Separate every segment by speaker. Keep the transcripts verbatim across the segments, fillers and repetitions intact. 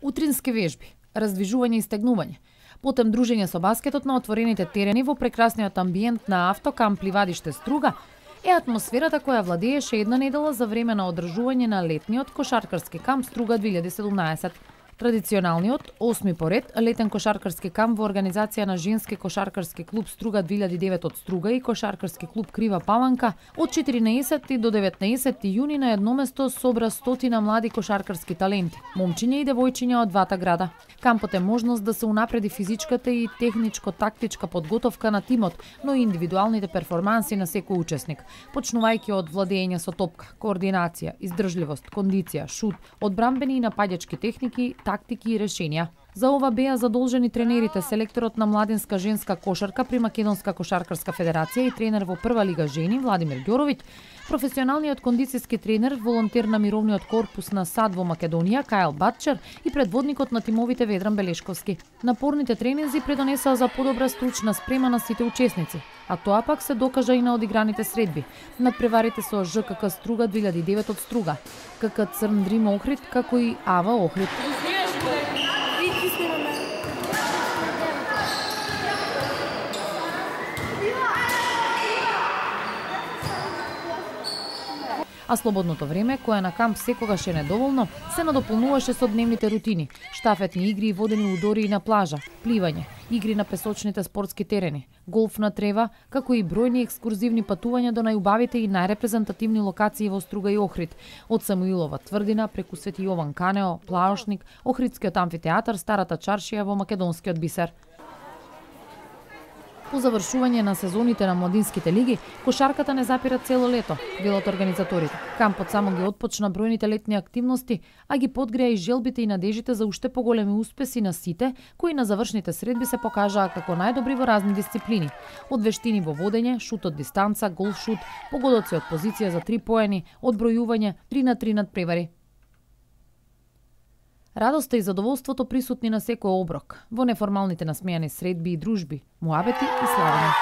Speaker 1: Утрински вежби, раздвижување и стегнување, потем дружење со баскетот на отворените терени во прекрасниот амбиент на автокамп Ливадиште Струга е атмосферата која владееше една недела за време на одржување на летниот кошаркарски камп Струга две илјади и седумнаесет. Традиционалниот, осми поред, летен кошаркарски камп во организација на Женски кошаркарски клуб Струга две илјади и девет од Струга и кошаркарски клуб Крива Паланка од четиринаесети до деветнаесети јуни на едно место собра стотина млади кошаркарски таленти, момчиња и девојчиња од двата града. Кампот е можност да се унапреди физичката и техничко-тактичка подготовка на тимот, но и индивидуалните перформанси на секој учесник, почнувајќи од владење со топка, координација, издржливост, кондиција, шут, одбрамбени и напаѓачки техники, тактики и решенија. За ова беа задолжени тренерите, селекторот на младинска женска кошарка при Македонска кошаркарска федерација и тренер во прва лига жени Владимир Ѓоровиќ, професионалниот кондицијски тренер, волонтер на мировниот корпус на САД во Македонија Кајл Батчер и предводникот на тимовите Ведран Белешковски. Напорните тренинзи предонесаа за подобра стручна спрема на сите учесници, а тоа пак се докажа и на одиграните средби. Надпреварите со ЖКК Струга две илјади и девет од Струга, КК Црн Дрим Охрид, како и АВА Охрид. А слободното време, кое на камп секогаш е недоволно, се надополнуваше со дневните рутини, штафетни игри и водени удори на плажа, пливање, игри на песочните спортски терени, голф на трева, како и бројни екскурзивни патувања до најубавите и најрепрезентативни локации во Струга и Охрид, од Самуилова тврдина преку Свети Јован Канео, Плаошник, Охридскиот амфитеатар, Старата чаршија во Македонскиот бисер. По завршување на сезоните на младинските лиги, кошарката не запира цело лето, велат организаторите. Кампот само ги отпочна бројните летни активности, а ги подгреа и желбите и надежите за уште поголеми успеси на сите, кои на завршните средби се покажаа како најдобри во разни дисциплини. Од вештини во водење, шут од дистанца, голф шут, погодоци од позиција за три поени, одбројување, три на три надпревари. Радоста и задоволството присутни на секој оброк, во неформалните насмејани средби и дружби, муабети и славење.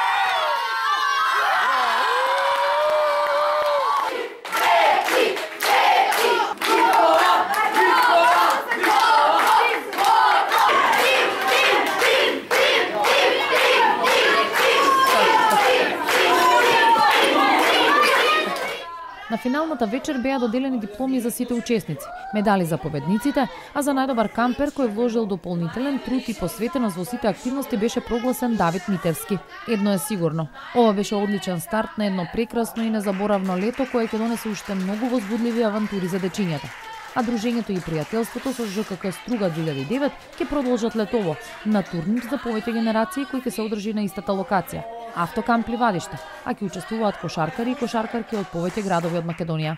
Speaker 1: На финалната вечер беа доделени дипломи за сите учесници, медали за победниците, а за најдобар кампер кој вложил дополнителен труд и посветеност во сите активности беше прогласен Давид Митевски. Едно е сигурно, ова беше одличен старт на едно прекрасно и незаборавно лето кое ќе донесе уште многу возбудливи авантури за дечињата. А дружењето и пријателството со ЖКК Струга две илјади и девет ќе продолжат летово на турнир за повеќе генерации кој ќе се одржи на истата локација, Автокамп Ливадиште, а ќе учествуваат кошаркари и кошаркарки од повеќе градови од Македонија.